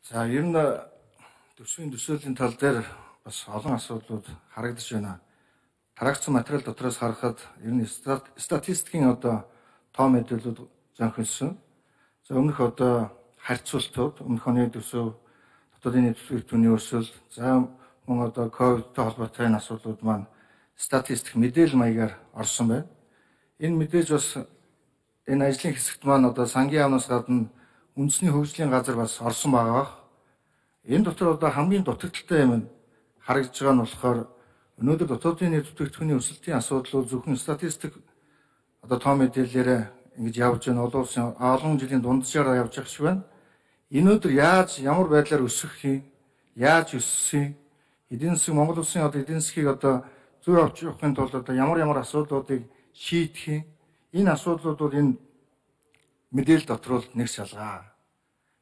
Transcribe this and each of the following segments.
За ер нь төсвийн төсөөлийн тал дээр бас олон асуудлууд харагдаж байна. Тараагцсан материал дотроос харахад ер нь статистикийн тоо мэдээлэлүүд зөнхөнсөн. За өмнөх харьцуултууд, өмнөх оны төсөв, дотоодын нийт бүтээгдэхүүний өсөлт, за мөн ковидтой холбоотой асуудлууд маань статистик мэдээлэл маягаар орсон байна. Энэ мэдээж бас энэ ажлын хэсэгт маань сангийн яамнаас гадна үндэсний хөгжлийн газар бас орсон байгаа. Энэ дотор хамгийн дутагдaltaй юм харагдж байгаа нь болохоор өнөөдөр дотоодын нийт бүтээгдэхүүний өсөлтийн асуудлууд зөвхөн статистик тоо мэдээлэлээр ингэж явж байгаа олон улсын олон жилийн дунджаар явж байгаа шиг байна. Энэ өдөр ямар байдлаар өсөх юм, яаж өссөн, эдийн засаг Монгол улсын эдийн засгийг зөв авч явахын тулд ямар асуудлуудыг шийдэх юм, энэ асуудлууд бол энэ мэдээлэл дотор нэг шалгаа.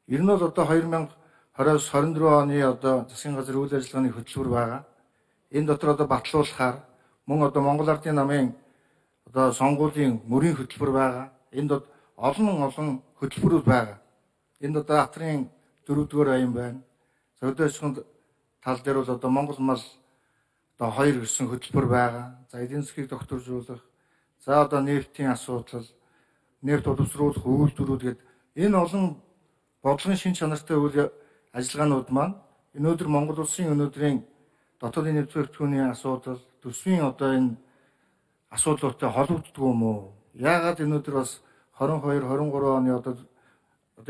Ер нь бол 2020-24 оны засгийн газрын үйл ажиллагааны хөтөлбөр байгаа. Энэ дотор батлуулахаар мөн Монгол Ардын намын сонгуулийн мөрийн хөтөлбөр байгаа. Энд олон хөтөлбөрүүд байгаа. Энд хатрын 4-р аян байна. За хөдөө аж ахуйн тал дээр бол Монгол мал 2 гэсэн хөтөлбөр байгаа. За эдийн засгийг докторжуулах, за нефтийн асуудал, нефт боловсруулах үйлдвэрүүд гэдэг энэ олон бодлогын шин чанартай үйл ажиллагаанууд маань өнөөдөр Монгол улсын өнөөдрийн дотоодын нийт бүтээгдэхүүний асуудал, төсвийн энэ асуудлуудтай холбогддог юм уу? Яагаад өнөөдөр бас 22-23 оны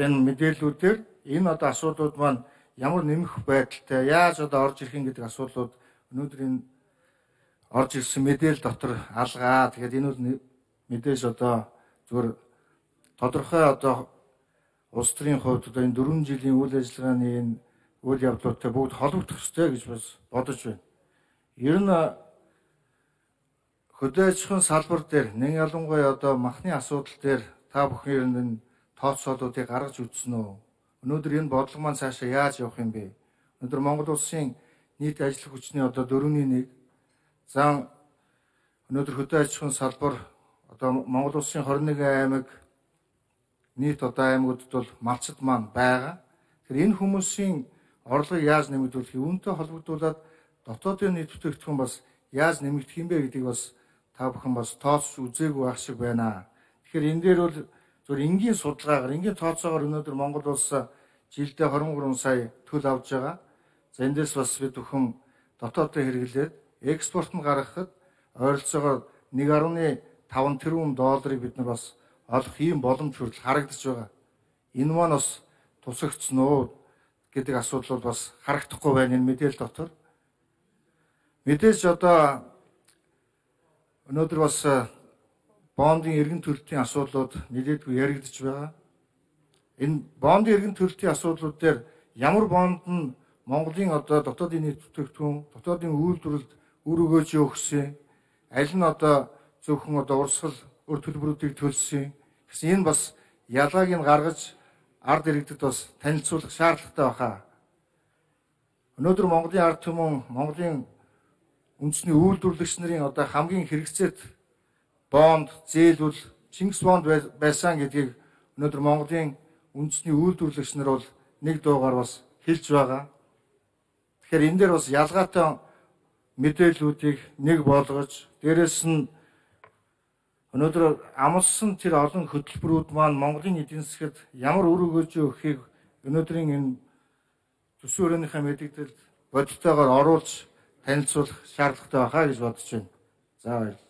энэ мэдээллүүдээр энэ асуудлууд маань ямар нэмэх байдалтай, яаж орж ирэх юм гэдэг асуудлууд өнөөдөр энэ орж ирсэн мэдээлэл дотор алгаа. Тэгэхээр энэ бол мэдээж зүгээр тодорхой улс төрийн хувьд энэ 4 жилийн үйл ажиллагааны энэ үйл явдлуудтай бүгд холбогдох ёстой гэж бас бодож байна. Ер нь хөдөө аж ахуйн салбар дээр нэг ялангуяа махны асуудал дээр та бүхэн ер нь тооцоолуудыг гаргаж үзсэн үү? Өнөөдөр энэ бодлого маань цаашаа яаж явах юм бэ? Өнөөдөр Монгол улсын нийт ажил хүчний 4/1. За өнөөдөр хөдөө аж ахуйн салбар Монгол улсын 21 аймаг нийт аймагуудад бол малчид маань байгаа. Тэгэхээр энэ хүмүүсийн орлогыг яаж нэмэгдүүлэх, үүнтэй холбогдуулаад дотоодын нийт бүтээгдэхүүн бас яаж нэмэгдэх юм бэ гэдгийг бас та бүхэн бас тооцож үзээгүй байх шиг байна. Тэгэхээр энэ дээр бол зөв энгийн судалгаагаар, энгийн тооцоогоор өнөөдөр Монгол улс жилдээ 23 сая төл авж байгаа. За эндээс бас бид бүхэн дотооддоо хэрэглээд экспортод гаргахад ойролцоогоор 1.5 тэрбум долларыг бид нар бас олох ийм боломж хүртэл харагдаж байгаа. Энэ маань бас тусагдсан уу гэдэг асуудал бол бас харагдахгүй байна энэ мэдээлэл дотор. Мэдээж өнөөдөр бас бондын эргэн төлөлтийн асуудлууд нэлээдгүй яригдж байгаа. Энэ бондын эргэн төлөлтийн асуудлууд дээр ямар бонд нь Монголын дотоодын нийт бүтээгдэхүүн, дотоодын үйлдвэрлэлд үр өгөөж өгсөн, аль нь зөвхөн урсгал өр төлбөрүүдийг төлсөн. Гэсэн энэ бас ялгааг нь гаргаж ард иргэдэд бас танилцуулах шаардлагатай байна. Өнөөдөр Монголын ард түмэн, Монголын үндэсний үйлдвэрлэгч нарын хамгийн хэрэгцээт бонд, зээл бол Чингис бонд байсан гэдгийг өнөөдөр Монголын үндэсний үйлдвэрлэгч нар бол нэг дуугаар бас хэлж байгаа. Тэгэхээр энэ дээр бас ялгаатай мэдээллүүдийг нэг болгож, дээрэс нь өнөөдөр амлсан тэр олон хөтөлбөрүүд маань Монголын эдийн засгад ямар үр өгөөж өгөхийг өнөөдрийн энэ төсвийн өрөөнийхөө мэдээлэлд бодитойгоор оруулж танилцуулах шаардлагатай байна гэж бодож байна. За баярлалаа.